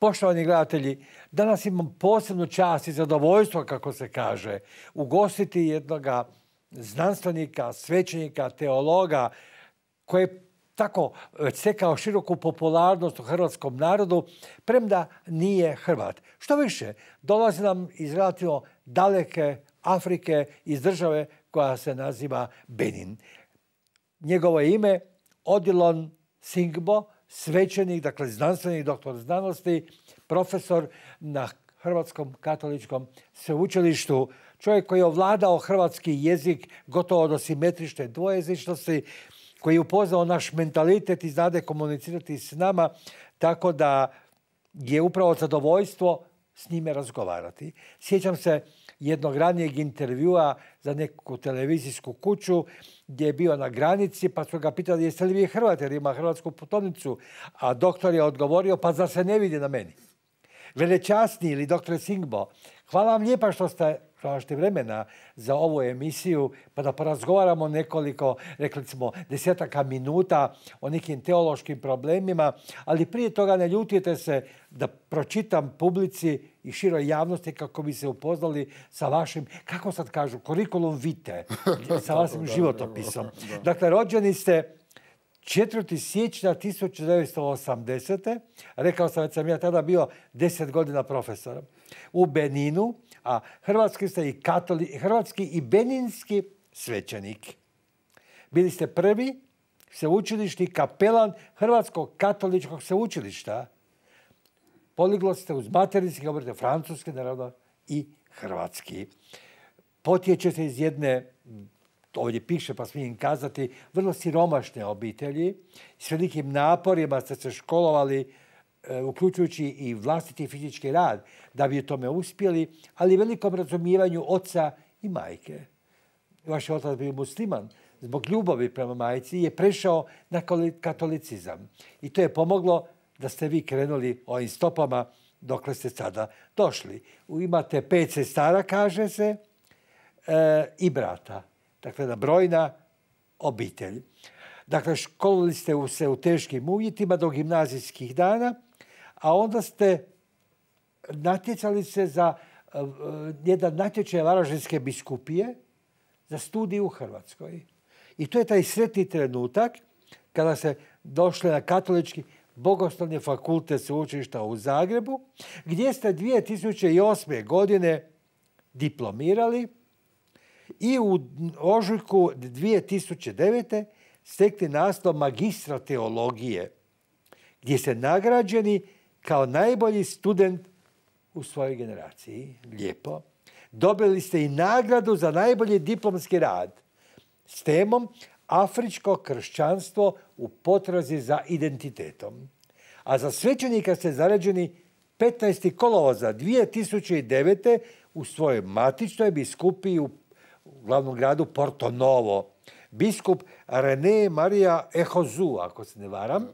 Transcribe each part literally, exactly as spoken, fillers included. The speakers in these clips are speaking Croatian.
Poštovani gledatelji, danas imam posebnu čast i zadovoljstvo, kako se kaže, ugostiti jednog znanstvenika, svećenika, teologa, koji je tako stekao široku popularnost u hrvatskom narodu, premda nije Hrvat. Što više, dolazi nam iz relativno daleke Afrike, iz države koja se naziva Benin. Njegovo je ime Odilon Singbo, svećenik, dakle znanstvenik, doktor znanosti, profesor na Hrvatskom katoličkom sveučilištu, čovjek koji je ovladao hrvatski jezik gotovo do simetrične dvojezičnosti, koji je upoznao naš mentalitet i znade komunicirati s nama, tako da je upravo zadovoljstvo s njime razgovarati. Sjećam se jednog ranijeg intervjua za neku televizijsku kuću gdje je bio na granici, pa su ga pitali jeste li vi Hrvat jer ima hrvatsku putovnicu, a doktor je odgovorio pa zar se ne vidi na meni. Velečasni ili doktore Singbo, hvala vam lijepa što ste pronašli vremena za ovu emisiju, pa da porazgovaramo nekoliko, rekli smo, desetaka minuta o nekim teološkim problemima, ali prije toga ne ljutite se da pročitam publici i široj javnosti kako bi se upoznali sa vašim, kako sad kažu, kurikulum vitae, sa vašim životopisom. Dakle, rođeni ste četvrtog siječnja tisuću devetsto osamdesete. Rekao sam da sam ja tada bio deset godina profesorom u Beninu, a hrvatski ste i katoli, hrvatski i beninski svećenik. Bili ste prvi sveučilišni kapelan Hrvatskog katoličkog sveučilišta. Poliglot ste uz materinski, govorite francuski, naravno, i hrvatski. Potječete iz jedne, ovdje piše pa smijem kazati, vrlo siromašne obitelji. S velikim naporima ste se školovali, uključujući i vlastiti fizički rad, da bi u tome uspjeli, ali velikom razumijevanju oca i majke. Vaš otac bio musliman, zbog ljubavi prema majci je prešao na katolicizam. I to je pomoglo da ste vi krenuli ovim stopama dokle ste sada došli. Imate pet sestara, kaže se, e, i brata. Dakle, na brojna obitelj. Dakle, školovali ste se u teškim uvjetima do gimnazijskih dana, a onda ste natjecali se za uh, jedan natječaj Varaždinske biskupije za studij u Hrvatskoj. I to je taj sretni trenutak kada se došli na katolički bogoslovni fakultet sveučilišta u Zagrebu, gdje ste dvije tisuće osme. godine diplomirali i u ožujku dvije tisuće devete. stekli naslov magistra teologije, gdje ste nagrađeni kao najbolji student u svojoj generaciji. Lijepo. Dobili ste i nagradu za najbolji diplomski rad s temom Afričko kršćanstvo u potrazi za identitetom. A za svećenika ste zarađeni petnaestog kolovoza dvije tisuće devete. u svojoj matičnoj biskupiji u glavnom gradu Porto Novo. Biskup René Maria Ehozu, ako se ne varam.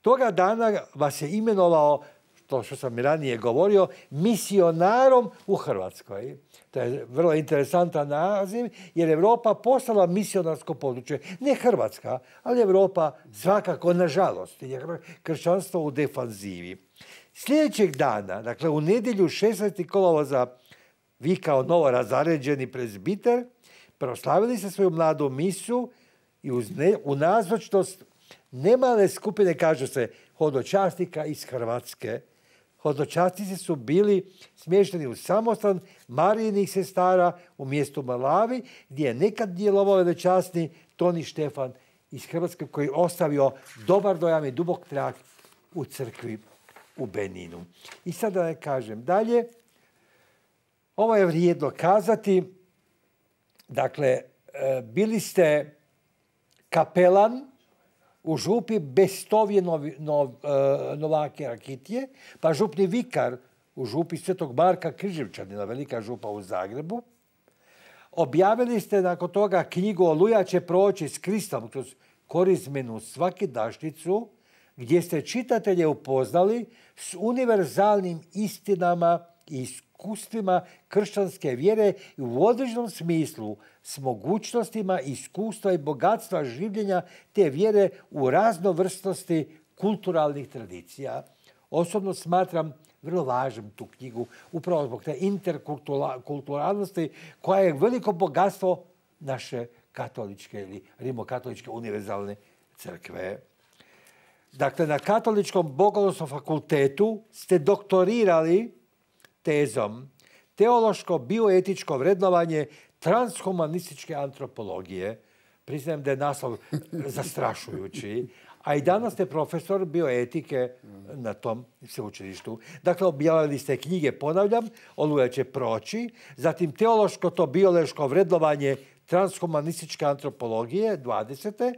Toga dana vas je imenovao, to što sam i ranije govorio, misionarom u Hrvatskoj. To je vrlo interesantan naziv, jer Europa postala misionarsko područje. Ne Hrvatska, ali Europa svakako, nažalost, je kršćanstvo u defanzivi. Sljedećeg dana, dakle u nedjelju šesnaestog kolovoza, vi kao novo razaređeni prezbiter proslavili ste svoju mladu misu i uz ne, u nazočnost nemale skupine, kaže se, hodočasnika iz Hrvatske. Hodočasnici su bili smješteni u samostan Marijinih sestara u mjestu Malavi, gdje je nekad djelovao velečasni Toni Štefan iz Hrvatske, koji je ostavio dobar dojam i dubok trag u crkvi u Beninu. I sada da ne kažem dalje, ovo je vrijedno kazati. Dakle, bili ste kapelan u župi Bestovje Novi, Nov, Novake Rakitije, pa župni vikar u župi Svetog Marka Križevčanina, velika župa u Zagrebu. Objavili ste nakon toga knjigu Oluja će proći s Kristom kroz korizmenu svakidašnjicu, gdje ste čitatelje upoznali s univerzalnim istinama i iskustvima kršćanske vjere i u određenom smislu s mogućnostima, iskustva i bogatstva življenja te vjere u raznovrsnosti kulturalnih tradicija. osobno smatram vrlo važnom tu knjigu, upravo zbog te interkulturalnosti koja je veliko bogatstvo naše katoličke ili rimokatoličke univerzalne crkve. Dakle, na Katoličkom bogoslovnom fakultetu ste doktorirali tezom teološko bioetičko vrednovanje transhumanističke antropologije. Priznajem da je naslov zastrašujući. A i danas ste profesor bioetike na tom sveučilištu. Dakle, objavili ste knjige, ponavljam, Oluja će proći, zatim teološko to biološko vrednovanje transhumanističke antropologije, dvadesete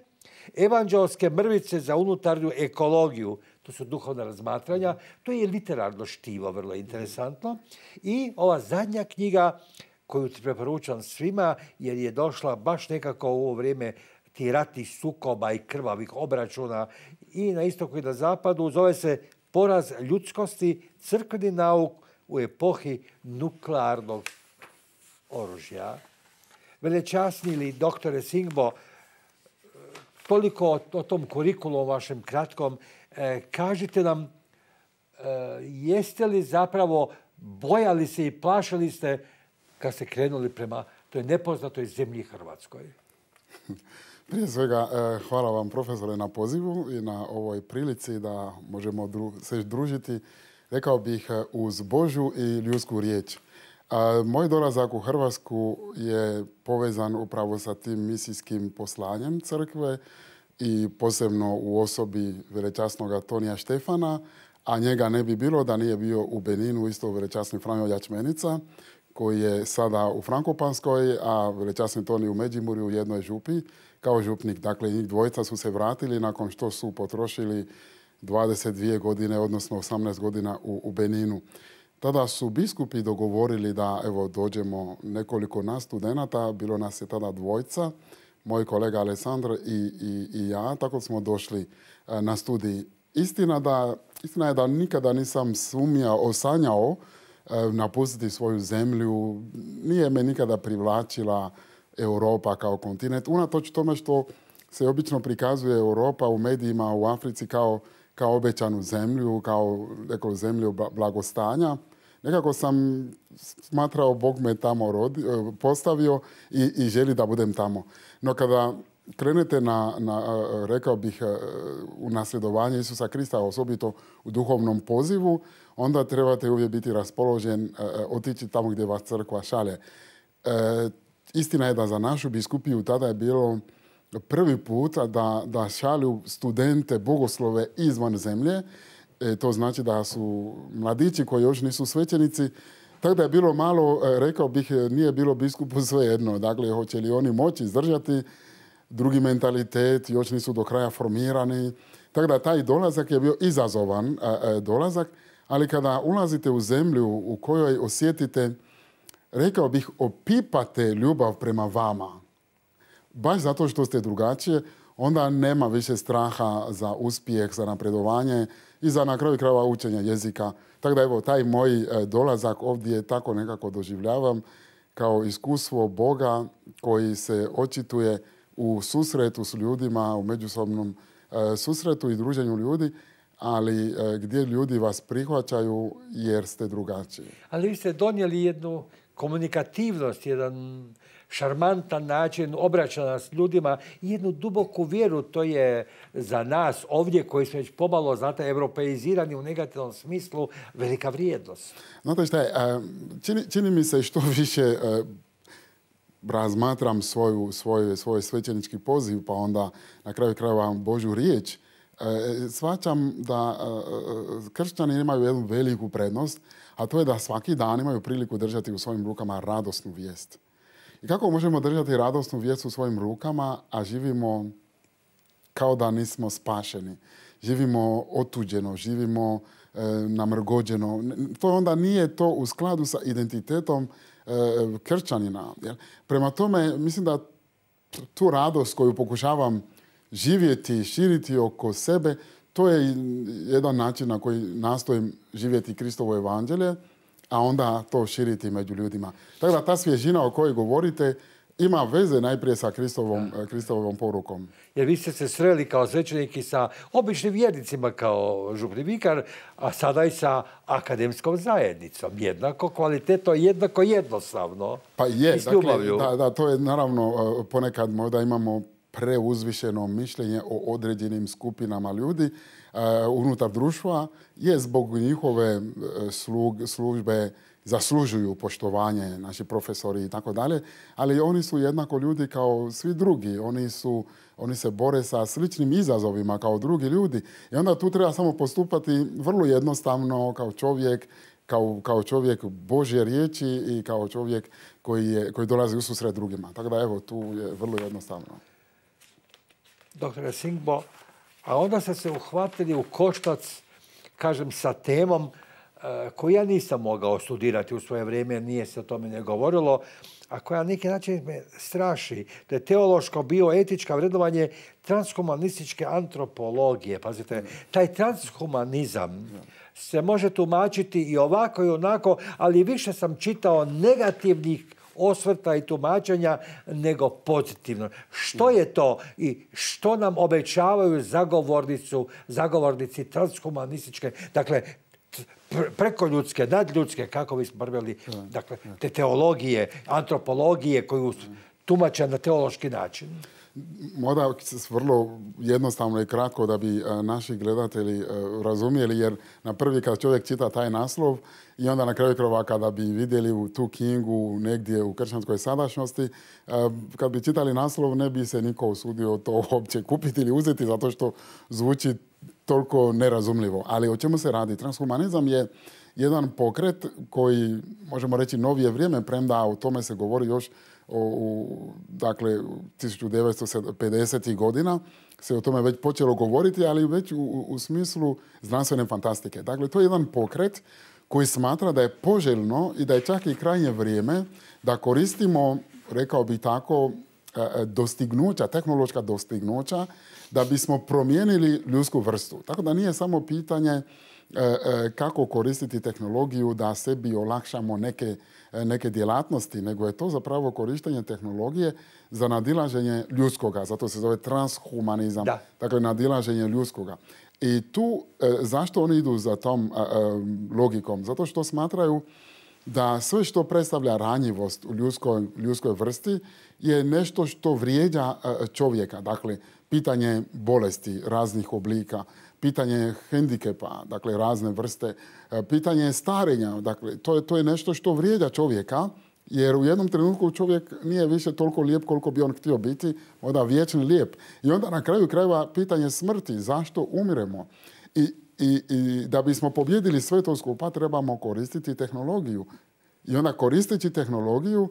Evanđelske mrvice za unutarnju ekologiju, to su duhovna razmatranja, to je literarno štivo, vrlo interesantno. I ova zadnja knjiga koju ti preporučam svima, jer je došla baš nekako u ovo vrijeme ti ratnih sukoba i krvavih obračuna i na istoku i na zapadu, zove se Poraz ljudskosti, crkveni nauk u epohi nuklearnog oružja. Velečasni li doktore Singbo, toliko o, o tom kurikulu vašem kratkom, e, kažite nam, e, jeste li zapravo bojali se i plašili ste kad ste krenuli prema toj nepoznatoj zemlji Hrvatskoj? Prije svega, hvala vam profesore na pozivu i na ovoj prilici da možemo dru se družiti, rekao bih, uz Božju i ljudsku riječ. Moj dolazak u Hrvatsku je povezan upravo sa tim misijskim poslanjem crkve i posebno u osobi velečasnog Tonija Štefana, a njega ne bi bilo da nije bio u Beninu isto velečasni Franjo Jačmenica, koji je sada u Frankopanskoj, a velečasni Toni u Međimurju u jednoj župi kao župnik. Dakle, njih dvojica su se vratili nakon što su potrošili dvadeset dvije godine, odnosno osamnaest godina u, u Beninu. Tada su biskupi dogovorili da evo dođemo nekoliko nas studenata, bilo nas je tada dvojica, moj kolega Alessandro i, i, i ja, tako smo došli na studij. Istina, da, istina je da nikada nisam sumnjao, osanjao napustiti svoju zemlju. Nije me nikada privlačila Europa kao kontinent. Unatoč tome što se obično prikazuje Europa u medijima u Africi kao, kao obećanu zemlju, kao neko zemlju blagostanja. Nekako sam smatrao, Bog me tamo rodi, postavio i, i želi da budem tamo. No kada krenete na, na, rekao bih, u nasljedovanje Isusa Krista, osobito u duhovnom pozivu, onda trebate uvijek biti raspoložen otići tamo gdje vas crkva šalje. E, istina je da za našu biskupiju tada je bilo prvi put da, da šalju studente bogoslove izvan zemlje. E, to znači da su mladići koji još nisu svećenici. Tako da je bilo malo, rekao bih, nije bilo biskupu svejedno. Dakle, hoće li oni moći izdržati drugi mentalitet, još nisu do kraja formirani. Tako da taj dolazak je bio izazovan e, dolazak, ali kada ulazite u zemlju u kojoj osjetite, rekao bih, opipate ljubav prema vama, baš zato što ste drugačije, onda nema više straha za uspjeh, za napredovanje i za na kraju krajeva učenja jezika. Tako da evo, taj moj dolazak ovdje tako nekako doživljavam kao iskustvo Boga koji se očituje u susretu s ljudima, u međusobnom susretu i druženju ljudi, ali gdje ljudi vas prihvaćaju jer ste drugačiji. Ali vi ste donijeli jednu komunikativnost, jedan šarmantan način obraćanja s ljudima i jednu duboku vjeru. To je za nas ovdje koji smo već pomalo, znate, europeizirani u negativnom smislu, velika vrijednost. Znate šta je, čini, čini mi se što više razmatram svoju, svoj, svoj svećenički poziv, pa onda na kraju krajeva Božju riječ, shvaćam da kršćani imaju jednu veliku prednost, a to je da svaki dan imaju priliku držati u svojim rukama radosnu vijest. I kako možemo držati radosnu vijest u svojim rukama, a živimo kao da nismo spašeni? Živimo otuđeno, živimo e, namrgođeno. To onda nije to u skladu sa identitetom e, kršćanina. Jel? Prema tome, mislim da tu radost koju pokušavam živjeti, širiti oko sebe, to je jedan način na koji nastojim živjeti Kristovo evanđelje, a onda to širiti među ljudima. Tako da ta svježina o kojoj govorite ima veze najprije sa Kristovom, Kristovom porukom. Jer vi ste se sreli kao svećeniki sa običnim vjernicima kao župni vikar, a sada i sa akademskom zajednicom. Jednako kvalitetno, jednako jednostavno. Pa je, dakle, da, da, to je naravno ponekad možda imamo preuzvišeno mišljenje o određenim skupinama ljudi uh, unutar društva, je zbog njihove slug, službe zaslužuju poštovanje, naši profesori i tako dalje, ali oni su jednako ljudi kao svi drugi. Oni, su, oni se bore sa sličnim izazovima kao drugi ljudi. I onda tu treba samo postupati vrlo jednostavno kao čovjek, kao, kao čovjek Božje riječi i kao čovjek koji, je, koji dolazi u susret drugima. Tako da evo, tu je vrlo jednostavno. Doktore Singbo, a onda ste se uhvatili u koštac, kažem, sa temom koju ja nisam mogao studirati u svoje vrijeme, jer nije se o tome ne govorilo, a koja na neki način me straši. To je teološko bioetičko vrednovanje transhumanističke antropologije. Pazite, taj transhumanizam se može tumačiti i ovako i onako, ali više sam čitao negativnih osvrta i tumačenja nego pozitivno. Što je to i što nam obećavaju zagovornicu, zagovornici transhumanističke, dakle, prekoljudske, nadljudske, kako bismo preveli, dakle, te teologije, antropologije koju tumače na teološki način? Možda vrlo jednostavno i kratko da bi naši gledatelji razumjeli, jer na prvi kad čovjek čita taj naslov i onda na kraju krajeva kada bi vidjeli u tu knjigu negdje u kršćanskoj sadašnjosti, kad bi čitali naslov ne bi se niko usudio to uopće kupiti ili uzeti zato što zvuči toliko nerazumljivo. Ali o čemu se radi? Transhumanizam je jedan pokret koji, možemo reći, novije vrijeme, premda o tome se govori još o, u, dakle, tisuću devetsto pedesetih godina se o tome već počelo govoriti, ali već u, u smislu znanstvene fantastike. Dakle, to je jedan pokret koji smatra da je poželjno i da je čak i krajnje vrijeme da koristimo, rekao bih tako, dostignuća, tehnološka dostignuća, da bismo promijenili ljudsku vrstu. Tako da nije samo pitanje kako koristiti tehnologiju da sebi olakšamo neke, neke djelatnosti, nego je to zapravo korištenje tehnologije za nadilaženje ljudskoga. Zato se zove transhumanizam. Da. Dakle, nadilaženje ljudskoga. I tu, zašto oni idu za tom logikom? Zato što smatraju da sve što predstavlja ranjivost u ljudskoj, ljudskoj vrsti je nešto što vrijeđa čovjeka. Dakle, pitanje bolesti raznih oblika, pitanje hendikepa, dakle razne vrste, pitanje starenja, dakle to je, to je nešto što vrijeđa čovjeka, jer u jednom trenutku čovjek nije više toliko lijep koliko bi on htio biti, onda vječni lijep. I onda na kraju krajeva pitanje smrti, zašto umiremo? I, i, i da bismo pobjedili sve to skupa trebamo koristiti tehnologiju. I onda koristeći tehnologiju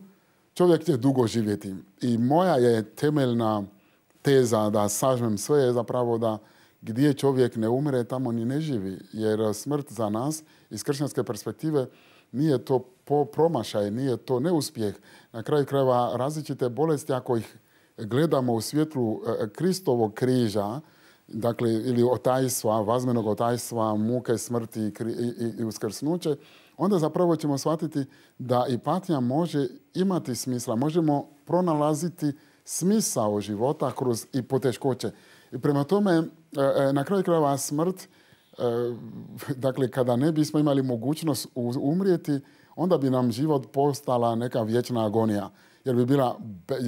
čovjek će dugo živjeti. I moja je temeljna teza da sažmem sve je zapravo da gdje čovjek ne umre, tamo ni ne živi. Jer smrt za nas iz kršćanske perspektive nije to promašaj, nije to neuspjeh. Na kraju krajeva različite bolesti, ako ih gledamo u svjetlu Kristovog križa, dakle ili otajstva, vazmenog otajstva, muke, smrti i, i, i uskrsnuće, onda zapravo ćemo shvatiti da i patnja može imati smisla. Možemo pronalaziti smisao života kroz i poteškoće. I prema tome, na kraju krajeva smrt, dakle, kada ne bismo imali mogućnost umrijeti, onda bi nam život postala neka vječna agonija, jer bi bila,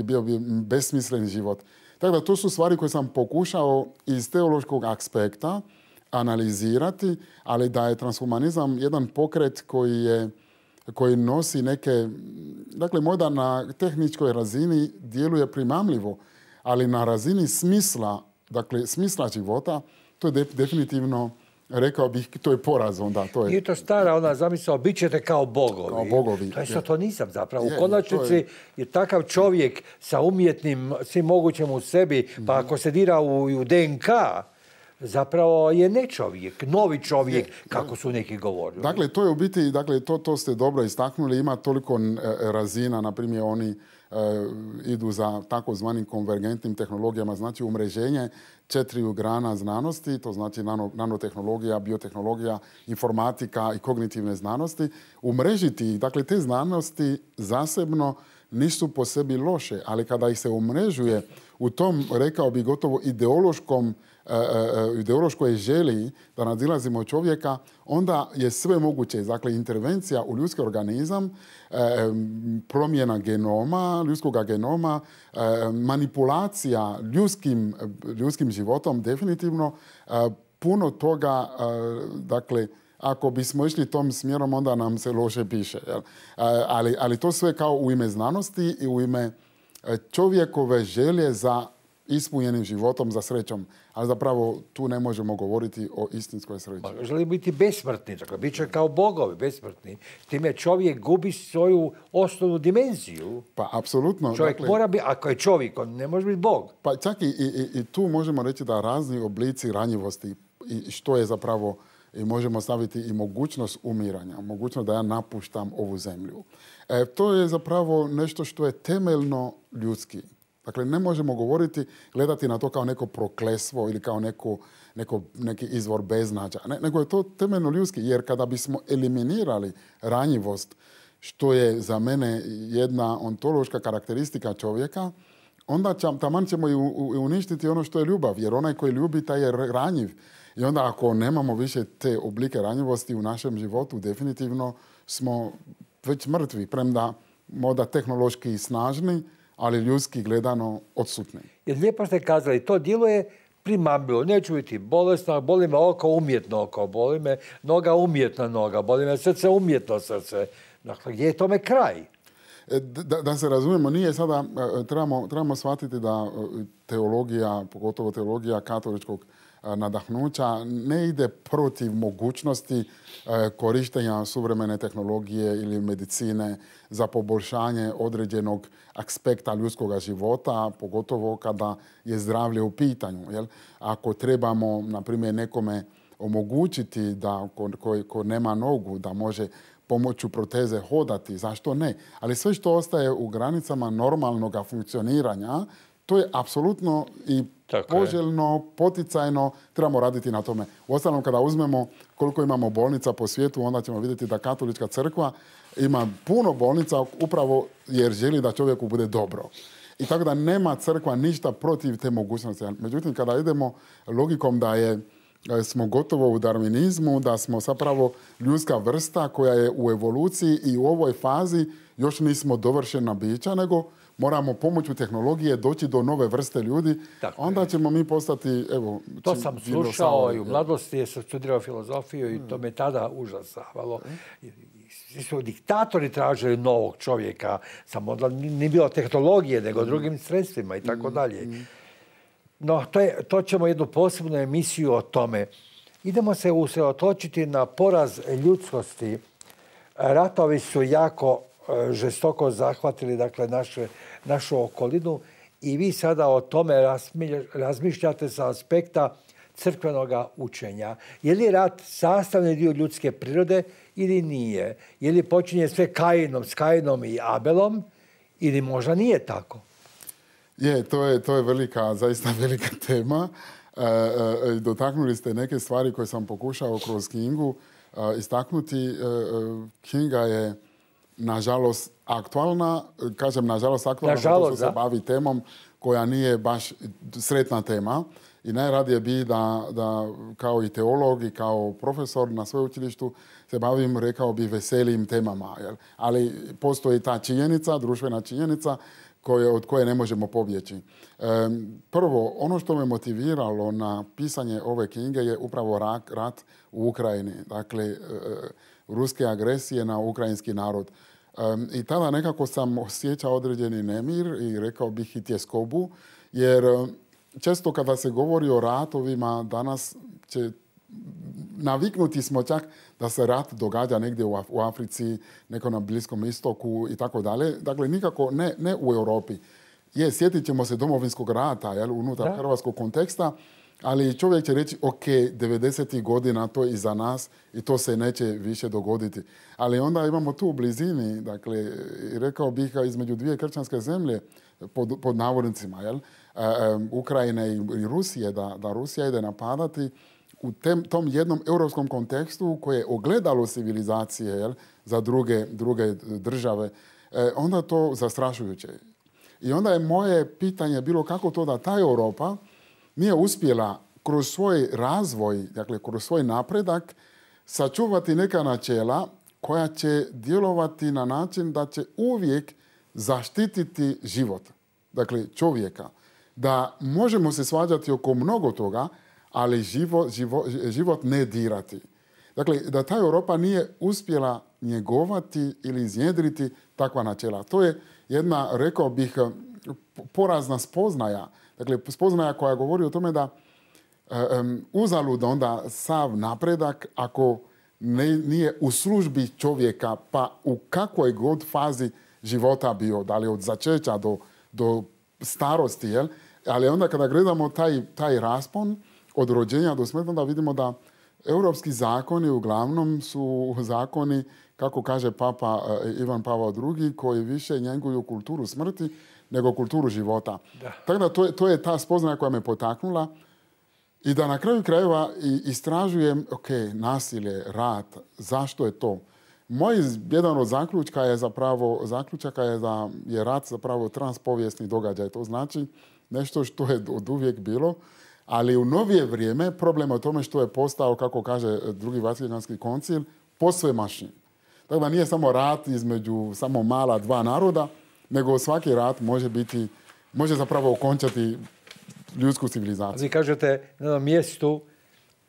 bio bi besmislen život. Tako da to su stvari koje sam pokušao iz teološkog aspekta analizirati, ali da je transhumanizam jedan pokret koji je koji nosi neke, dakle možda na tehničkoj razini djeluje primamljivo, ali na razini smisla, dakle smisla života, to je de, definitivno, rekao bih, to je poraz onda. To je... Nije to stara ona zamisao, bit ćete kao bogovi. Kao bogovi. To je satanizam zapravo. Je, u konačnici je... je takav čovjek sa umjetnim, svim mogućim u sebi, mm-hmm. pa ako se dira u, u D N K, zapravo je ne čovjek, novi čovjek, je, kako su neki govorili. Dakle, to je u biti, dakle, to, to ste dobro istaknuli, ima toliko razina, na primjer, oni e, idu za takozvanim konvergentnim tehnologijama, znači umreženje četiri grana znanosti, to znači nano, nanotehnologija, biotehnologija, informatika i kognitivne znanosti, umrežiti, dakle, te znanosti zasebno nisu po sebi loše, ali kada ih se umrežuje u tom, rekao bi, gotovo ideološkom ideološkoj želji da nadzilazimo čovjeka, onda je sve moguće. Dakle, intervencija u ljudski organizam, promjena genoma, ljudskog genoma, manipulacija ljudskim, ljudskim životom, definitivno puno toga, dakle, ako bismo išli tom smjerom, onda nam se loše piše. Jel? Ali, ali to sve kao u ime znanosti i u ime čovjekove želje za ispunjenim životom, za srećom. Ali zapravo tu ne možemo govoriti o istinskoj sreći. Želi biti besmrtni, dakle, bit će kao bogovi besmrtni. Time čovjek gubi svoju osnovnu dimenziju. Pa, apsolutno. Čovjek dakle, mora biti, ako je čovjek, on ne može biti bog. Pa čak i, i, i tu možemo reći da razni oblici ranjivosti i što je zapravo, i možemo staviti i mogućnost umiranja, mogućnost da ja napuštam ovu zemlju. E, to je zapravo nešto što je temeljno ljudski. Dakle, ne možemo govoriti, gledati na to kao neko proklesvo ili kao neko, neko, neki izvor beznađa. Ne, nego je to temeljno ljudski, jer kada bismo eliminirali ranjivost, što je za mene jedna ontološka karakteristika čovjeka, onda će, taman ćemo i uništiti ono što je ljubav, jer onaj koji ljubi, taj je ranjiv. I onda ako nemamo više te oblike ranjivosti u našem životu, definitivno smo već mrtvi, premda možda tehnološki snažni, ali ljudski gledano odsutni. Jer lijepo ste kazali, to djeluje primamljivo. Neću biti bolesno, boli me oko, umjetno oko, boli me noga, umjetna noga, boli me srce, umjetno srce. Dakle, gdje je tome kraj? Da, da se razumijemo, nije sada, trebamo, trebamo shvatiti da teologija, pogotovo teologija katoličkog nadahnuća, ne ide protiv mogućnosti korištenja suvremene tehnologije ili medicine za poboljšanje određenog aspekta ljudskog života, pogotovo kada je zdravlje u pitanju. Jel? Ako trebamo, na primjer, nekome omogućiti da ko, ko, ko nema nogu, da može pomoću proteze hodati, zašto ne? Ali sve što ostaje u granicama normalnog funkcioniranja, to je apsolutno i poželjno, poticajno, trebamo raditi na tome. Uostalom, kada uzmemo koliko imamo bolnica po svijetu, onda ćemo vidjeti da Katolička crkva ima puno bolnica upravo jer želi da čovjeku bude dobro. I tako da nema crkva ništa protiv te mogućnosti. Međutim, kada idemo logikom da je smo gotovo u darvinizmu, da smo zapravo ljudska vrsta koja je u evoluciji i u ovoj fazi još nismo dovršena bića, nego moramo pomoću tehnologije doći do nove vrste ljudi, tako onda je. Ćemo mi postati, evo... To sam slušao i u mladosti, jer sam studirao filozofiju i to me tada užasavalo. Svi su diktatori tražili novog čovjeka, samo onda nije bilo tehnologije, nego drugim sredstvima i tako dalje. No, to, je, to ćemo jednu posebnu emisiju o tome. Idemo se usredotočiti na poraz ljudskosti. Ratovi su jako žestoko zahvatili, dakle, naše, našu okolinu i vi sada o tome razmišljate sa aspekta crkvenog učenja. Je li rat sastavni dio ljudske prirode ili nije? Je li počinje sve Kainom, s Kainom i Abelom ili možda nije tako? Je, to je, to je velika, zaista velika tema. E, e, dotaknuli ste neke stvari koje sam pokušao kroz knjigu e, istaknuti. E, knjiga je nažalost aktualna, kažem nažalost aktualna, zato što se bavi temom koja nije baš sretna tema. I najradije bi da, da kao i teolog i kao profesor na sveučilištu se bavim, rekao bi, veselim temama. Jel? Ali postoji ta činjenica, društvena činjenica, koje, od koje ne možemo pobjeći. E, prvo, ono što me motiviralo na pisanje ove knjige je upravo rat, rat u Ukrajini. Dakle, e, ruske agresije na ukrajinski narod. E, I tada nekako sam osjećao određeni nemir i rekao bih i tjeskobu, jer često kada se govori o ratovima, danas će naviknuti smo čak da se rat događa negdje u Africi, neko na Bliskom istoku i tako dalje. Dakle, nikako ne, ne u Europi. Je, sjetit ćemo se Domovinskog rata, jel, unutar da. hrvatskog konteksta, ali čovjek će reći, ok, devedesetih godina to je iza nas i to se neće više dogoditi. Ali onda imamo tu u blizini, dakle, rekao bih između dvije kršćanske zemlje, pod, pod navodnicima, jel, e, e, Ukrajine i, i Rusije, da, da Rusija ide napadati u tem, tom jednom europskom kontekstu koje je ogledalo civilizacije, jel, za druge, druge države. e, onda je to zastrašujuće. I onda je moje pitanje bilo kako to da ta Europa nije uspjela kroz svoj razvoj, dakle kroz svoj napredak, sačuvati neka načela koja će djelovati na način da će uvijek zaštititi život, dakle čovjeka. Da možemo se svađati oko mnogo toga, ali život, život, život ne dirati. Dakle, da ta Europa nije uspjela njegovati ili iznjedriti takva načela. To je jedna, rekao bih, porazna spoznaja. Dakle, spoznaja koja govori o tome da um, uzalud onda sav napredak ako ne, nije u službi čovjeka, pa u kakvoj god fazi života bio, da li od začeća do, do starosti, jel? Ali onda kada gledamo taj, taj raspon od rođenja do smrti, onda vidimo da europski zakoni uglavnom su zakoni, kako kaže Papa Ivan Pavao drugi, koji više njeguju kulturu smrti nego kulturu života. Da. Tako da to je, to je ta spoznaja koja me potaknula i da na kraju krajeva istražujem, ok, nasilje, rat, zašto je to? Moj jedan od zaključka je zapravo, zaključaka je da je rat zapravo transpovijesni događaj. To znači nešto što je od uvijek bilo, ali u novije vrijeme problem je u tome što je postao, kako kaže drugi Vatikanski koncil, posvemašnji. Tako da nije samo rat između samo mala dva naroda, nego svaki rat može biti, može zapravo okončati ljudsku civilizaciju. Vi kažete na jednom mjestu,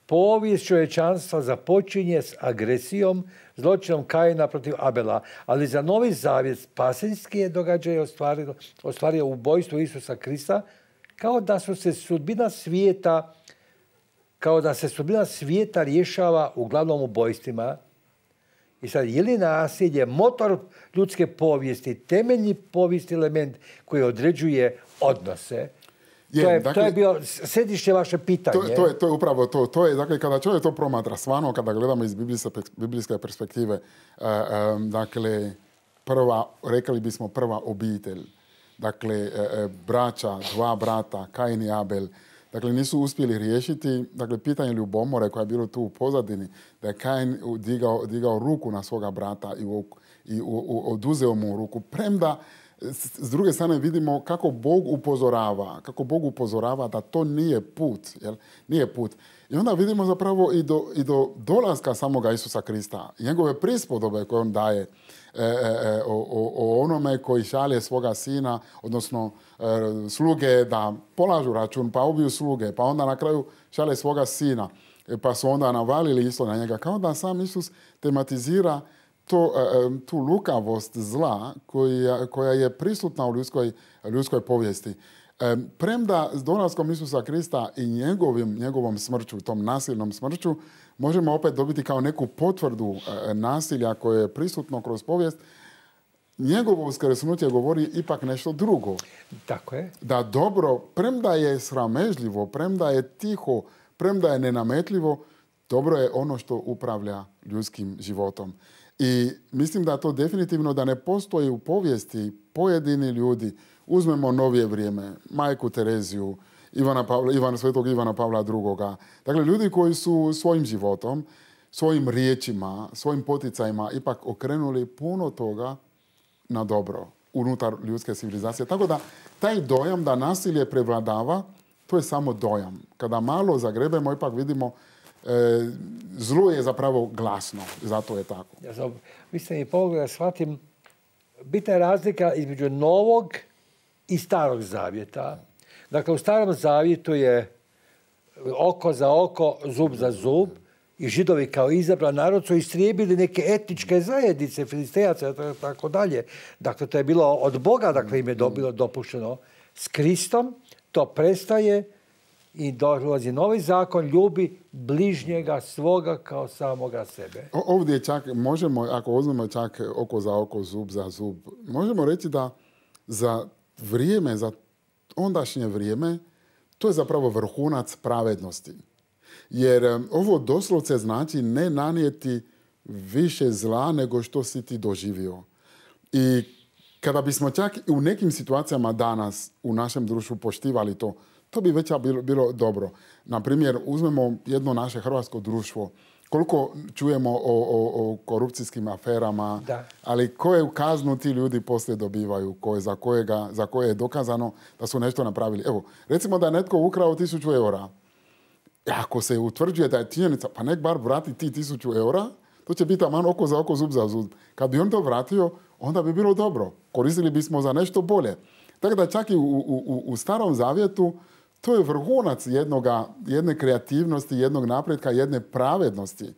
povijest čovječanstva započinje s agresijom, zločinom Kaina protiv Abela, ali za Novi Zavjet spasenski je događaj ostvario, ostvario ubojstvo Isusa Krista, kao da su se sudbina svijeta, kao da se sudbina svijeta rješava uglavnom ubojstvima. I sad, je li nasilje motor ljudske povijesti, temeljni povijesti element koji određuje odnose? Je, to, je, dakle, to je bio središnje vaše pitanje. To, to, je, to je upravo to. To je, dakle, kada čovjek to promatra, stvarno, kada gledamo iz biblijske perspektive, uh, um, dakle, prva, rekli bismo prva obitelj, dakle, uh, braća, dva brata, Kain i Abel, dakle, nisu uspjeli riješiti, dakle, pitanje ljubomore koja je bilo tu u pozadini, da je Kain digao, digao ruku na svoga brata i, u, i u, u, oduzeo mu ruku, premda s druge strane vidimo kako Bog upozorava, kako Bog upozorava da to nije put, jel? Nije put. I onda vidimo zapravo i do, i do dolaska samoga Isusa Krista, njegove prispodobe koje on daje e, e, o, o, o onome koji šalje svoga sina, odnosno e, sluge da polažu račun, pa ubiju sluge, pa onda na kraju šalje svoga sina, e, pa su onda navalili isto na njega. Kao da sam Isus tematizira To, tu lukavost zla koja, koja je prisutna u ljudskoj, ljudskoj povijesti. Premda s dolaskom Isusa Krista i njegovim, njegovom smrću, tom nasilnom smrću, možemo opet dobiti kao neku potvrdu nasilja koje je prisutno kroz povijest, njegovo uskrsnuće govori ipak nešto drugo. Tako je. Da dobro, premda je sramežljivo, premda je tiho, premda je nenametljivo, dobro je ono što upravlja ljudskim životom. I mislim da to definitivno da ne postoji u povijesti pojedini ljudi. Uzmemo novije vrijeme, Majku Tereziju, Ivana Pavla, Ivana, svetog Ivana Pavla drugoga. Dakle, ljudi koji su svojim životom, svojim riječima, svojim poticajima ipak okrenuli puno toga na dobro unutar ljudske civilizacije. Tako da taj dojam da nasilje prevladava, to je samo dojam. Kada malo zagrebemo, ipak vidimo E, zlo je zapravo glasno, zato je tako. Ja sam, vi ste mi pomogli da shvatim, bitna je razlika između Novog i Starog Zavjeta. Dakle, u Starom Zavjetu je oko za oko, zub za zub, i Židovi kao izabran narod su istrijebili neke etničke zajednice, Filistejaca i tako dalje. Dakle, to je bilo od Boga, dakle im je bilo dopušteno. S Kristom to prestaje i dolazi novi zakon, ljubi bližnjega svoga kao samoga sebe. Ovdje čak možemo, ako uzmemo čak oko za oko, zub za zub, možemo reći da za vrijeme, za ondašnje vrijeme, to je zapravo vrhunac pravednosti. Jer ovo doslovce znači ne nanijeti više zla nego što si ti doživio. I kada bismo čak u nekim situacijama danas u našem društvu poštivali to, to bi već bilo, bilo dobro. Na primjer, uzmemo jedno naše hrvatsko društvo Koliko čujemo o, o, o korupcijskim aferama, da. ali koje kaznu ti ljudi poslije dobivaju, koje, za, kojega, za koje je dokazano da su nešto napravili. Evo, recimo da je netko ukrao tisuću eura. Ako se utvrđuje da je činjenica, pa nek bar vrati ti tisuću eura, to će biti aman oko za oko, zub za zub. Kad bi on to vratio, onda bi bilo dobro. Koristili bismo za nešto bolje. Tako da čak i u, u, u Starom Zavjetu to je vrhunac jednoga, jedne kreativnosti, jednog napretka, jedne pravednosti.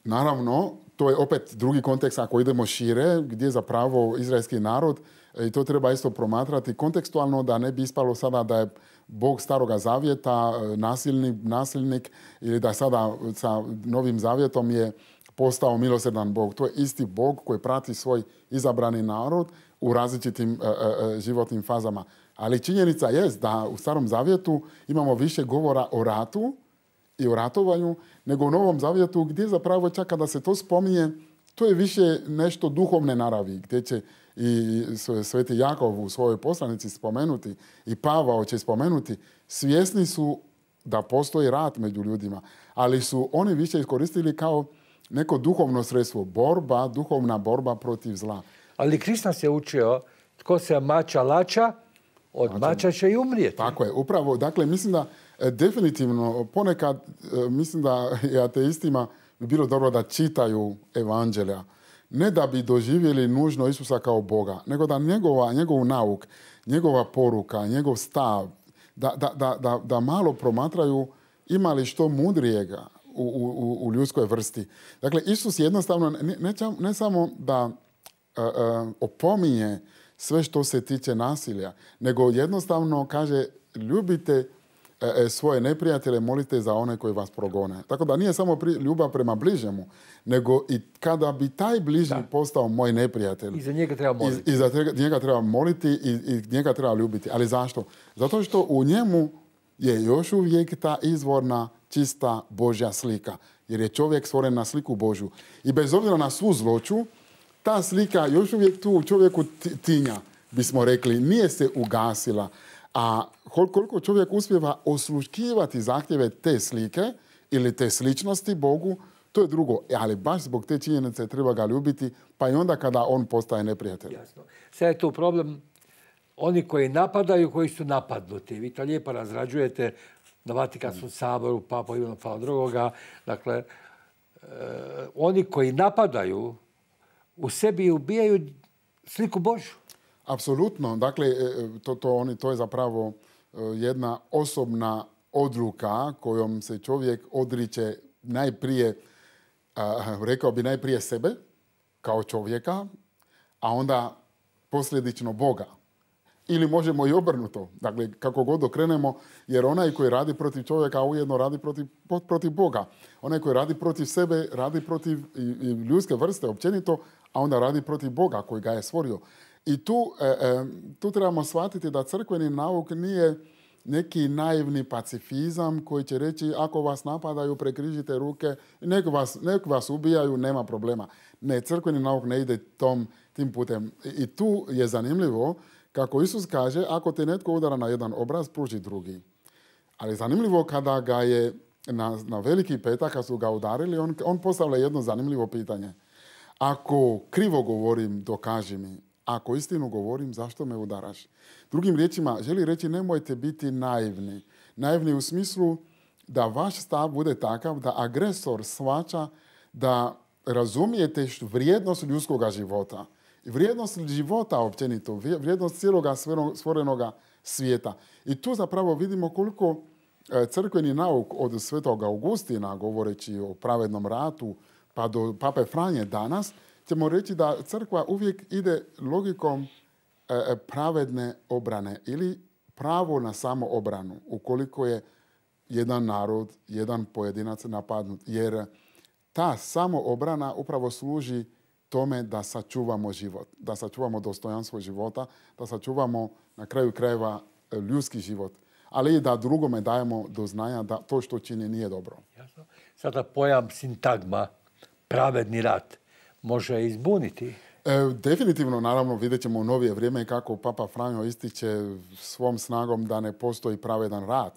Naravno, to je opet drugi kontekst ako idemo šire, gdje je zapravo izraelski narod, i to treba isto promatrati kontekstualno, da ne bi ispalo sada da je Bog Staroga Zavjeta nasilnik, nasilnik ili da sada sa Novim Zavjetom je postao milosrdan Bog. To je isti Bog koji prati svoj izabrani narod u različitim uh, uh, životnim fazama. Ali činjenica je da u Starom Zavjetu imamo više govora o ratu i o ratovanju nego u Novom Zavjetu, gdje zapravo čak kada se to spominje, to je više nešto duhovne naravi, gdje će i Sveti Jakov u svojoj poslanici spomenuti i Pavao će spomenuti, svjesni su da postoji rat među ljudima, ali su oni više iskoristili kao neko duhovno sredstvo, borba, duhovna borba protiv zla. Ali Krist nas je učio, tko se mača lača, od znači, mača će i umrijeti. Tako je, upravo. Dakle, mislim da e, definitivno ponekad, e, mislim da i ateistima bi bilo dobro da čitaju evanđelja. Ne da bi doživjeli nužno Isusa kao Boga, nego da njegova, njegov nauk, njegova poruka, njegov stav, da, da, da, da, da malo promatraju ima li što mudrijega u, u, u ljudskoj vrsti. Dakle, Isus jednostavno ne, ne, ne samo da uh, uh, opominje sve što se tiče nasilja, nego jednostavno kaže ljubite uh, svoje neprijatelje, molite za one koji vas progone. Tako da nije samo pri, ljubav prema bližnjemu, nego i kada bi taj bližnji da. postao moj neprijatelj. I za njega treba moliti. I, i za njega treba moliti i, i njega treba ljubiti. Ali zašto? Zato što u njemu je još uvijek ta izvorna čista Božja slika. Jer je čovjek stvoren na sliku Božju. I bez obzira na svu zloću, ta slika još uvijek tu u čovjeku tinja, bismo rekli, nije se ugasila. A koliko čovjek uspijeva osluškivati zahtjeve te slike ili te sličnosti Bogu, to je drugo. Ali baš zbog te činjenice treba ga ljubiti, pa i onda kada on postaje neprijatelj. Jasno. Sad je tu problem oni koji napadaju, koji su napadnuti. Vi to lijepo razrađujete na Vatikanskom saboru, Papa Ivana Pavla drugoga. Dakle, e, oni koji napadaju u sebi ubijaju sliku Božju. Apsolutno. Dakle, to, to, oni, to je zapravo jedna osobna odluka kojom se čovjek odriče najprije, a, rekao bi najprije sebe kao čovjeka, a onda posljedično Boga. Ili možemo i obrnuto. Dakle, kako god okrenemo, jer onaj koji radi protiv čovjeka ujedno radi protiv, protiv Boga. Onaj koji radi protiv sebe, radi protiv i, i ljudske vrste općenito, a onda radi protiv Boga koji ga je stvorio. I tu, e, e, tu trebamo shvatiti da crkveni nauk nije neki naivni pacifizam koji će reći ako vas napadaju, prekrižite ruke, nek vas, nek vas ubijaju, nema problema. Ne, crkveni nauk ne ide tom, tim putem. I tu je zanimljivo kako Isus kaže, ako te netko udara na jedan obraz, pruži drugi. Ali zanimljivo kada ga je na, na Veliki petak, kad su ga udarili, on, on postavlja jedno zanimljivo pitanje. Ako krivo govorim, dokaži mi. Ako istinu govorim, zašto me udaraš? Drugim riječima, želi reći nemojte biti naivni. Naivni u smislu da vaš stav bude takav da agresor shvaća da razumijete vrijednost ljudskog života. Vrijednost života općenito, vrijednost cijeloga stvorenoga svijeta. I tu zapravo vidimo koliko crkveni nauk od Svetog Augustina, govoreći o pravednom ratu, pa do Pape Franje danas, ćemo reći da crkva uvijek ide logikom pravedne obrane ili pravo na samoobranu, ukoliko je jedan narod, jedan pojedinac napadnut. Jer ta samoobrana upravo služi tome da sačuvamo život, da sačuvamo dostojanstvo života, da sačuvamo na kraju krajeva ljudski život, ali i da drugome dajemo do znanja da to što čini nije dobro. Jasno. Sada pojam sintagma, pravedni rat, može izbuniti? E, definitivno, naravno, vidjet ćemo u novije vrijeme kako Papa Franjo ističe svom snagom da ne postoji pravedan rat.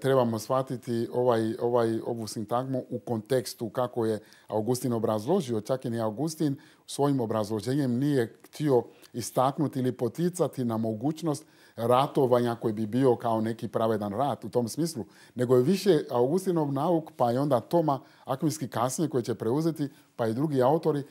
trebamo shvatiti ovaj, ovaj, ovu sintagmu u kontekstu kako je Augustin obrazložio. Čak i ni Augustin svojim obrazloženjem nije htio istaknuti ili poticati na mogućnost ratovanja koji bi bio kao neki pravedan rat u tom smislu, nego je više Augustinov nauk, pa i onda Toma Akvinski kasnije koji će preuzeti, pa i drugi autori,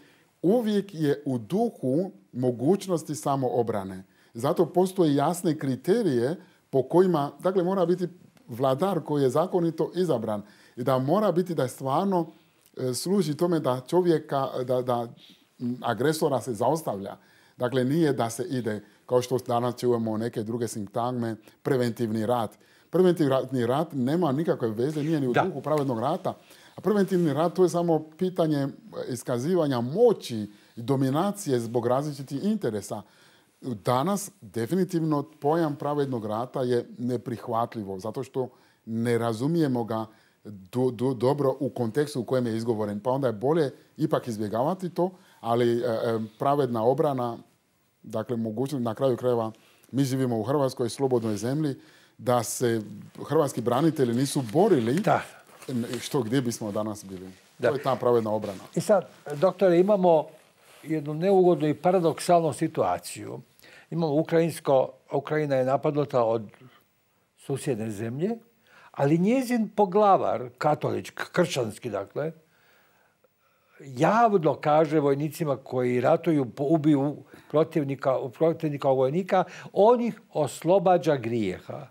uvijek je u duhu mogućnosti samoobrane. Zato postoje jasne kriterije po kojima, dakle, mora biti vladar koji je zakonito izabran i da mora biti da stvarno e, služi tome da čovjeka, da, da agresora se zaustavlja. Dakle, nije da se ide, kao što danas čujemo neke druge sintagme, preventivni rat. Preventivni rat nema nikakve veze, nije ni u duhu pravednog rata. A preventivni rat to je samo pitanje iskazivanja moći i dominacije zbog različitih interesa. Danas definitivno pojam pravednog rata je neprihvatljivo, zato što ne razumijemo ga do, do, dobro u kontekstu u kojem je izgovoren. Pa onda je bolje ipak izbjegavati to, ali e, pravedna obrana, dakle mogućnost, na kraju krajeva mi živimo u Hrvatskoj slobodnoj zemlji, da se hrvatski branitelji nisu borili, da. Što gdje bismo danas bili. Da. To je ta pravedna obrana. I sad, doktore, imamo jednu neugodnu i paradoksalnu situaciju. Imamo ukrajinsko, Ukrajina je napadnuta od susjedne zemlje, ali njezin poglavar, katolički, kršćanski, dakle, javno kaže vojnicima koji ratuju, ubiju protivnika, protivnika vojnika, on ih oslobađa grijeha.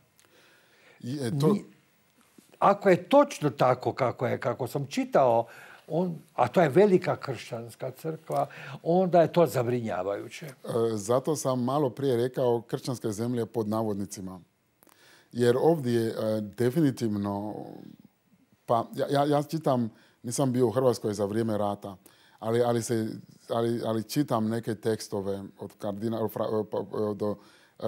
Je to... Ako je točno tako kako je, kako sam čitao, on, a to je velika kršćanska crkva, onda je to zabrinjavajuće. Zato sam malo prije rekao kršćanske zemlje pod navodnicima. Jer ovdje definitivno, pa ja, ja čitam, nisam bio u Hrvatskoj za vrijeme rata, ali, ali, se, ali, ali čitam neke tekstove od kardinala, do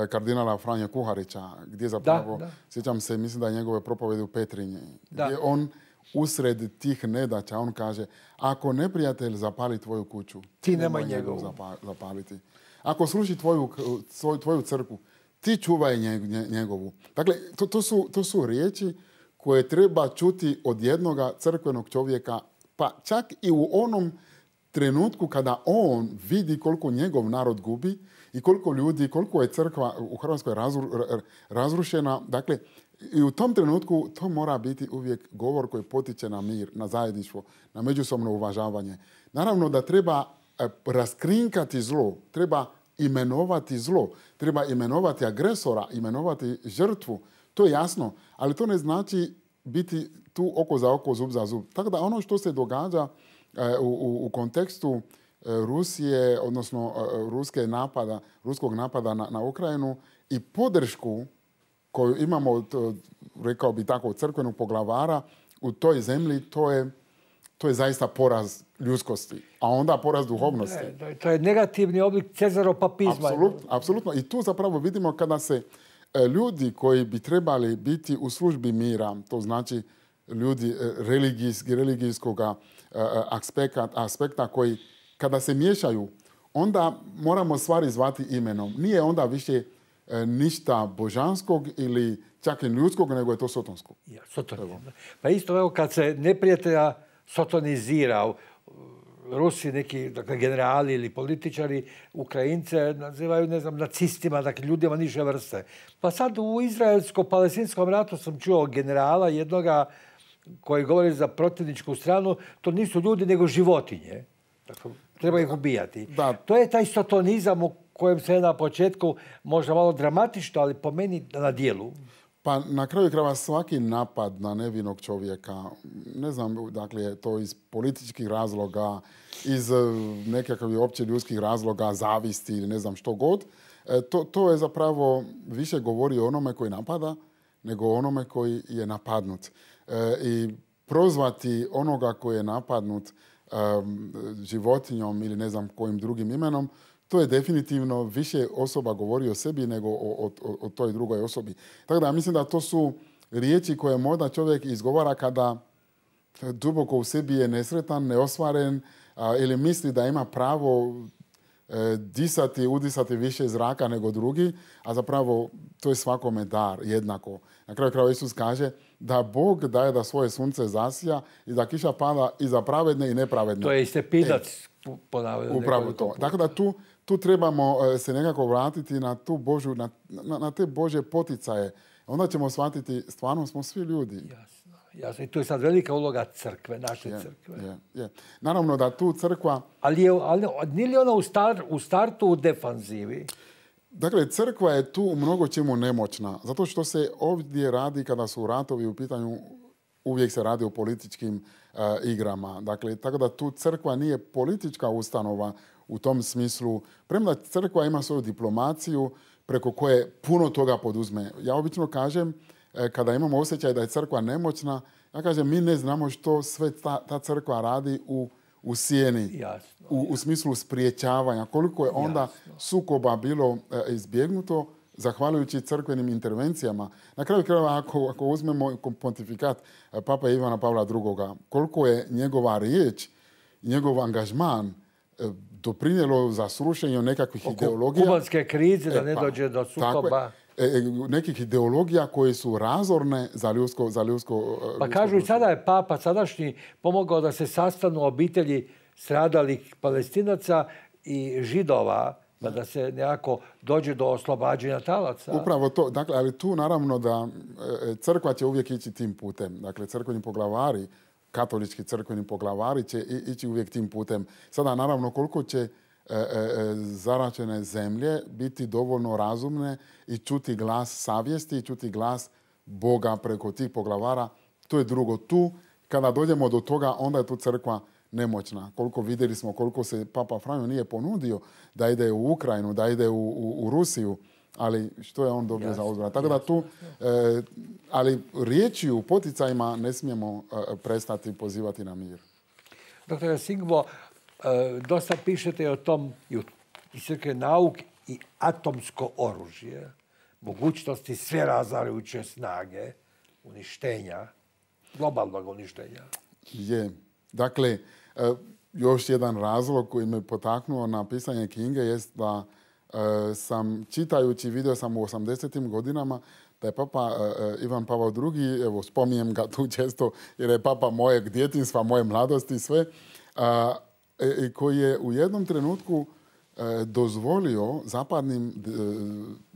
kardinala Franje Kuharića, gdje zapravo, da, da. sjećam se, mislim da je njegove propovedi u Petrinji, da. Gdje on usred tih nedaća, on kaže, ako neprijatelj zapali tvoju kuću, ti nemoj njegovu zapaliti. Ako sruši tvoju, tvoju crkvu, ti čuvaj njegovu. Dakle, to, to, su, to su riječi koje treba čuti od jednoga crkvenog čovjeka, pa čak i u onom trenutku kada on vidi koliko njegov narod gubi i koliko ljudi, koliko je crkva u Hrvatskoj razru, razrušena. Dakle, i u tom trenutku to mora biti uvijek govor koji potiče na mir, na zajedništvo, na međusobno uvažavanje. Naravno da treba raskrinkati zlo, treba imenovati zlo, treba imenovati agresora, imenovati žrtvu. To je jasno, ali to ne znači biti tu oko za oko, zub za zub. Tako da ono što se događa u, u, u kontekstu Rusije, odnosno ruske napada, ruskog napada na, na Ukrajinu i podršku koju imamo, to, rekao bi tako, crkvenog poglavara u toj zemlji, to je, to je zaista poraz ljudskosti, a onda poraz duhovnosti. Ne, to je negativni oblik cezaropapizma. Apsolutno, apsolutno. I tu zapravo vidimo kada se ljudi koji bi trebali biti u službi mira, to znači ljudi religijski, religijskog aspekta, aspekta koji kada se miješaju, onda moramo stvari zvati imenom. Nije onda više ništa božanskog ili čak i ljudskog, nego je to sotonskog. Ja, sotonizam. Pa isto evo kad se neprijatelja sotonizira, Rusi, neki dakle, generali ili političari, Ukrajince nazivaju, ne znam, nacistima, dakle ljudima niže vrste. Pa sad u izraelsko-palestinskom ratu sam čuo generala jednoga koji govori za protivničku stranu, to nisu ljudi nego životinje. Dakle, treba ih ubijati. Da. To je taj sotonizam u kojem se na početku možda malo dramatično, ali po meni na dijelu. Pa na kraju krajeva svaki napad na nevinog čovjeka, ne znam, dakle je to iz političkih razloga, iz nekakvih opće ljudskih razloga, zavisti ili ne znam što god, to, to je zapravo više govori o onome koji napada nego o onome koji je napadnut. E, I prozvati onoga koji je napadnut um, životinjom ili ne znam kojim drugim imenom, to je definitivno više osoba govori o sebi nego o, o, o toj drugoj osobi. Tako da ja mislim da to su riječi koje možda čovjek izgovara kada duboko u sebi je nesretan, neostvaren a, ili misli da ima pravo disati, udisati više zraka nego drugi, a zapravo to je svakome dar jednako. Na kraju krajeva Isus kaže da Bog daje da svoje sunce zasija i da kiša pada i za pravedne i nepravedne. To je Stepidac e, ponavljeno. Upravo to. Tako da tu, tu trebamo se nekako vratiti na, tu Božu, na, na, na te Božje poticaje. Onda ćemo shvatiti, stvarno smo svi ljudi. Jasno, jasno. I tu je sad velika uloga crkve, naše je, crkve. Je, je. Naravno da tu crkva... Ali, je, ali nije li ona u, star, u startu u defanzivi? Dakle, crkva je tu u mnogo čemu nemoćna. Zato što se ovdje radi, kada su ratovi u pitanju, uvijek se radi o političkim uh, igrama. Dakle, tako da tu crkva nije politička ustanova u tom smislu. Premda crkva ima svoju diplomaciju preko koje puno toga poduzme. Ja obično kažem, eh, kada imamo osjećaj da je crkva nemoćna, ja kažem, mi ne znamo što sve ta, ta crkva radi u u sjeni, jasno, u, u smislu spriječavanja. Koliko je onda jasno. sukoba bilo e, izbjegnuto zahvaljujući crkvenim intervencijama. Na kraju krajeva, ako, ako uzmemo pontifikat e, Papa Ivana Pavla drugoga, koliko je njegova riječ, njegov angažman e, doprinijelo za srušenje nekakvih Oko ideologija. Kubanske krize, da ne e, pa, dođe do sukoba. E, nekih ideologija koje su razorne za ljudsko, za ljudsko Pa ljudsko kažu i sada je Papa sadašnji pomogao da se sastanu obitelji stradalih Palestinaca i Židova, pa da se nekako dođe do oslobađanja talaca. Upravo to. Dakle, ali tu naravno da crkva će uvijek ići tim putem. Dakle, crkveni poglavari, katolički crkveni poglavari će ići uvijek tim putem. Sada naravno koliko će E, e, zaračene zemlje biti dovoljno razumne i čuti glas savjesti i čuti glas Boga preko tih poglavara. To je drugo. Tu, kada dođemo do toga, onda je tu crkva nemoćna. Koliko vidjeli smo, koliko se Papa Franjo nije ponudio da ide u Ukrajinu, da ide u, u, u Rusiju, ali što je on dobio jasno, za odgovor. Tako da tu, e, ali riječi u poticajima ne smijemo e, prestati pozivati na mir. Doktor Singbo, E, dosta pišete o tom i crkve nauk i atomsko oružje, mogućnosti sve razarajuće snage, uništenja, globalnog uništenja. Je. Dakle, e, još jedan razlog koji me potaknuo na pisanje knjige jest da e, sam čitajući, vidio sam u osamdesetim godinama da je Papa e, Ivan Pavao drugi, evo spominjem ga tu često jer je Papa mojeg djetinjstva, moje mladosti i sve, a, E, koji je u jednom trenutku e, dozvolio zapadnim e,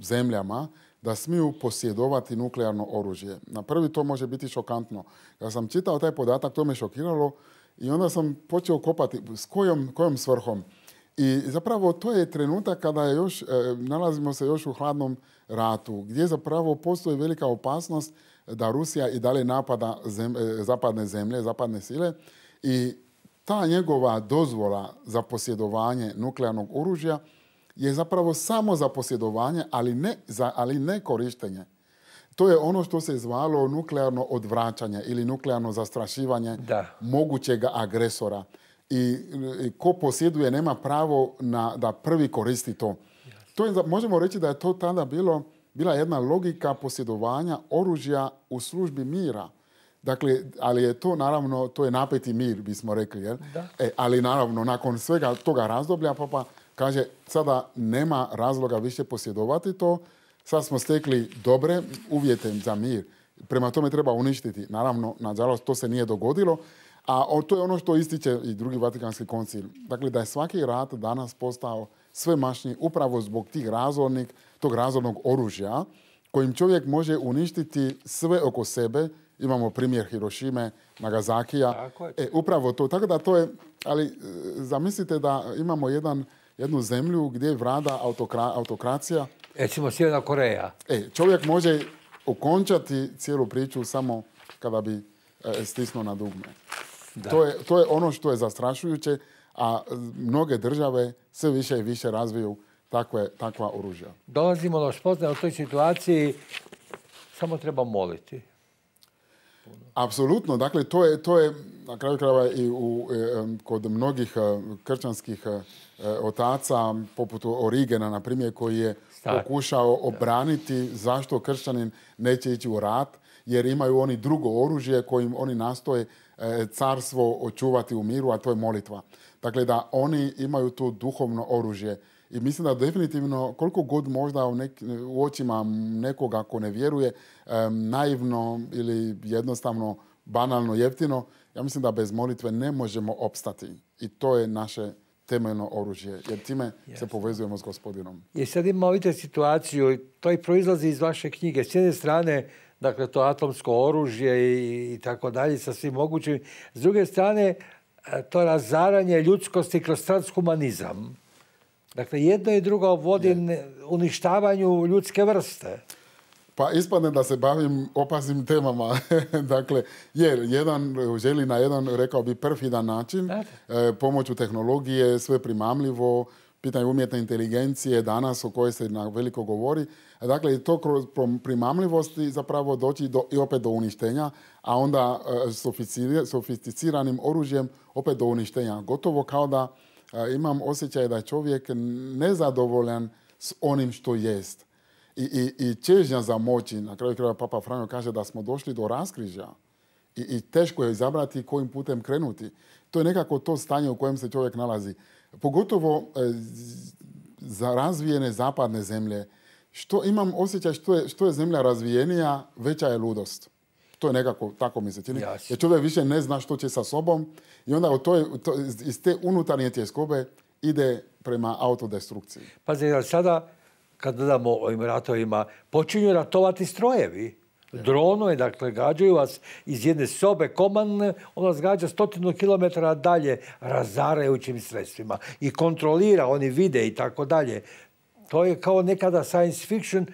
zemljama da smiju posjedovati nuklearno oružje. Na prvi to može biti šokantno. Kada sam čitao taj podatak, to me šokiralo i onda sam počeo kopati s kojom, kojom svrhom. I zapravo to je trenutak kada je još, e, nalazimo se još u hladnom ratu, gdje zapravo postoji velika opasnost da Rusija i dalje napada zem, e, zapadne zemlje, zapadne sile i ta njegova dozvola za posjedovanje nuklearnog oružja je zapravo samo za posjedovanje, ali ne, za, ali ne korištenje. To je ono što se zvalo nuklearno odvraćanje ili nuklearno zastrašivanje da. mogućeg agresora. I, i ko posjeduje nema pravo na, da prvi koristi to. Yes. To je, možemo reći da je to tada bilo, bila jedna logika posjedovanja oružja u službi mira. Dakle, ali je to naravno, to je napeti mir, bismo rekli. Jel? E, ali naravno, nakon svega toga razdoblja, Papa kaže, sada nema razloga više posjedovati to, sad smo stekli dobre uvjete za mir. Prema tome treba uništiti. Naravno, nažalost, to se nije dogodilo, a to je ono što ističe i drugi Vatikanski koncil. Dakle, da je svaki rat danas postao sve mašnji upravo zbog tih razornih, tog razornog oružja, kojim čovjek može uništiti sve oko sebe. Imamo primjer Hirošime, Nagasakija. E, upravo to. Tako da to je, ali zamislite da imamo jedan, jednu zemlju gdje vlada autokra, autokracija. Recimo Sjeverna Koreja. E, čovjek može okončati cijelu priču samo kada bi e, stisnuo na dugme. To je, to je ono što je zastrašujuće, a mnoge države sve više i više razviju takve, takva oružja. Dolazimo do spoznaje u toj situaciji, samo treba moliti. Apsolutno. Dakle, to je, to je na kraju krajeva i u, kod mnogih kršćanskih otaca, poput Origena, na primjer, koji je Stak. pokušao obraniti zašto kršćanin neće ići u rat, jer imaju oni drugo oružje kojim oni nastoje carstvo očuvati u miru, a to je molitva. Dakle, da oni imaju to duhovno oružje. I mislim da definitivno, koliko god možda u, nek, u očima nekoga ako ne vjeruje, um, naivno ili jednostavno, banalno, jeftino, ja mislim da bez molitve ne možemo opstati. I to je naše temeljno oružje, jer time Jasne. se povezujemo s Gospodinom. I sad imamo vidite situaciju, to i proizlazi iz vaše knjige. S jedne strane, dakle, to atomsko oružje i, i tako dalje, sa svim mogućim. S druge strane, to razaranje ljudskosti kroz transhumanizam. Dakle, jedno i drugo vodi je. uništavanju ljudske vrste. Pa ispadne da se bavim opasnim temama. Dakle, jer jedan želi na jedan, rekao bi, perfidan način, e, pomoću tehnologije, sve primamljivo, pitanje umjetne inteligencije danas o kojoj se na veliko govori. Dakle, to kroz primamljivosti zapravo doći do, i opet do uništenja, a onda e, sofisticiranim oružjem opet do uništenja. Gotovo kao da e, imam osjećaj da je čovjek nezadovoljan s onim što jest. I, i, i čežnja za moći, na kraju krajeva Papa Franjo kaže da smo došli do raskrižja i, i teško je izabrati kojim putem krenuti. To je nekako to stanje u kojem se čovjek nalazi. Pogotovo e, za razvijene zapadne zemlje. Što imam osjećaj što je, što je zemlja razvijenija, veća je ludost. To je nekako, tako mi se čini. Yes. Jer čovjek više ne zna što će sa sobom i onda to je, to, iz te unutarnje tjeskobe ide prema autodestrukciji. Pazi, sada kad gledamo o ovim ratovima, počinju ratovati strojevi. Dronovi, dakle, gađaju vas iz jedne sobe komandne, on vas gađa stotinu kilometara dalje razarajućim sredstvima. I kontrolira, oni vide i tako dalje. To je kao nekada science fiction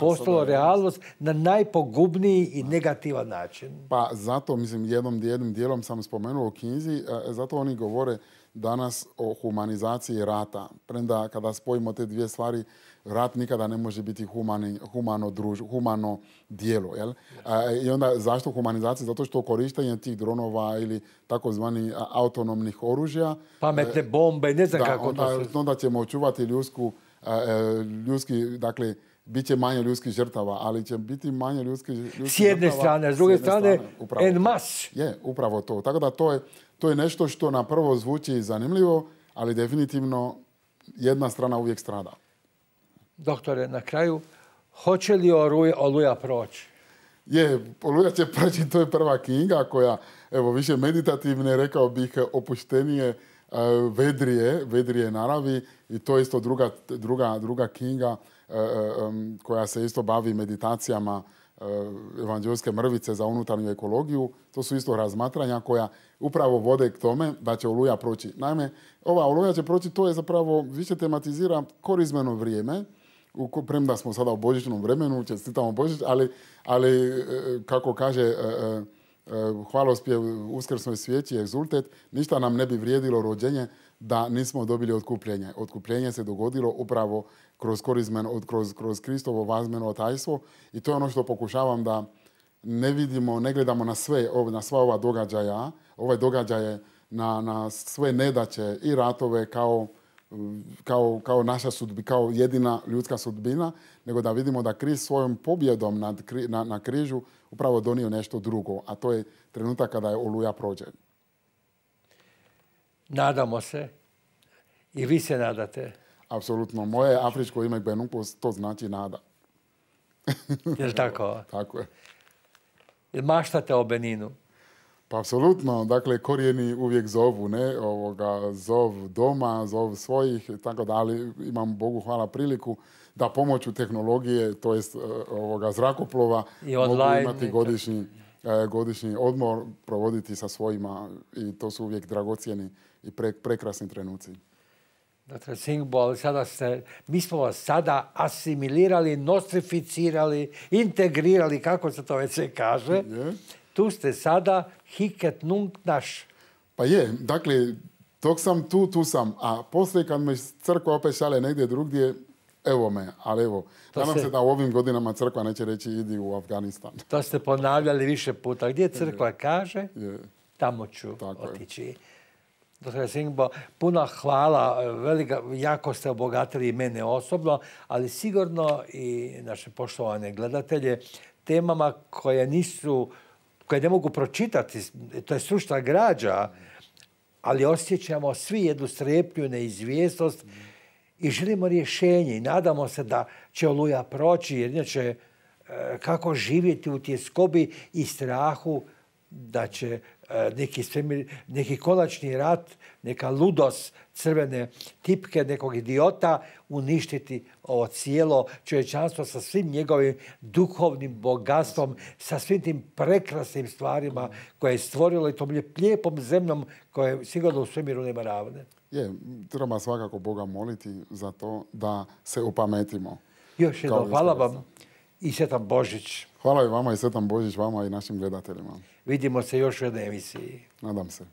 postalo realnost na najpogubniji i negativan način. Pa zato, mislim, jednom, jednim dijelom sam spomenuo u knjizi, zato oni govore danas o humanizaciji rata. Premda kada spojimo te dvije stvari, rat nikada ne može biti humani, humano, druž, humano dijelo. Jel? A, I onda zašto humanizacija? Zato što korištenje tih dronova ili takozvani autonomnih oružja. Pametne bombe, ne znam da, kako onda, to se... onda ćemo očuvati ljudsku, ljudski, dakle, bit će manje ljudskih žrtava, ali će biti manje ljudskih žrtava. S jedne strane, s druge strane, en mas. Je, upravo to. Tako da to je, to je nešto što na prvo zvuči zanimljivo, ali definitivno jedna strana uvijek strada. Doktore, na kraju, hoće li Oluja, Oluja proći? Je, Oluja će proći, to je prva knjiga koja, evo, više meditativne, rekao bih, opuštenije, vedrije, vedrije naravi i to je isto druga, druga, druga knjiga koja se isto bavi meditacijama evanđelske mrvice za unutarnju ekologiju. To su isto razmatranja koja upravo vode k tome da će Oluja proći. Naime, ova Oluja će proći, to je zapravo više tematizira korizmeno vrijeme, premda smo sada u božićnom vremenu, čestitamo Božić, ali, ali kako kaže hvalospjev uskrsnoj svijeći, egzultet, ništa nam ne bi vrijedilo rođenje da nismo dobili otkupljenje. Otkupljenje se dogodilo upravo kroz korizmen, kroz, kroz Kristovo vazmeno tajstvo i to je ono što pokušavam da ne vidimo, ne gledamo na sve, na sva ova događaja, ove događaje, na, na sve nedaće i ratove kao, kao, kao naša sudbina, kao jedina ljudska sudbina, nego da vidimo da Krist svojom pobjedom nad, na, na križu upravo donio nešto drugo, a to je trenutak kada je Oluja prođe. Nadamo se. I vi se nadate. Apsolutno. Moje afričko ime Benupos, to znači nada. Je li tako? Tako je. Jel maštate o Beninu? Pa apsolutno. Dakle, korijeni uvijek zovu, ne? Ovoga, zov doma, zov svojih, tako da, ali imam, Bogu hvala, priliku da pomoću tehnologije, to jest ovoga zrakoplova, I online, mogu imati godišnji, godišnji odmor, provoditi sa svojima i to su uvijek dragocjeni i pre, prekrasni trenuci. Doktor Singbo, ali sada ste, mi smo vas sada asimilirali, nostrificirali, integrirali, kako se to već se kaže. Je. Tu ste sada hiket nunc naš. Pa je, dakle, dok sam tu, tu sam. A poslije kad me crkva opet šalje negdje drugdje, evo me, ali evo. Nadam se... se da u ovim godinama crkva neće reći idi u Afganistan. To ste ponavljali više puta. Gdje crkva je. kaže, je. tamo ću Tako otići. Je. Doktor Singbo, puno hvala. Velika, jako ste obogatili mene osobno, ali sigurno i naše poštovane gledatelje temama koje nisu, koje ne mogu pročitati, to je stručna građa, ali osjećamo svi jednu strepnju, neizvjesnost i želimo rješenje i nadamo se da će oluja proći, jer inače kako živjeti u tjeskobi i strahu da će neki, svemir, neki konačni rat, neka ludost crvene tipke nekog idiota uništiti ovo cijelo čovječanstvo sa svim njegovim duhovnim bogatstvom, sa svim tim prekrasnim stvarima koje je stvorilo i tom lijepom zemljom koje sigurno u svemiru nema ravne. Je, treba svakako Boga moliti za to da se opametimo. Još jednom, hvala vam i sretan Božić. Hvala i vama i sretan Božić vama i našim gledateljima. Vidimo se još u jednoj emisiji. Nadam se.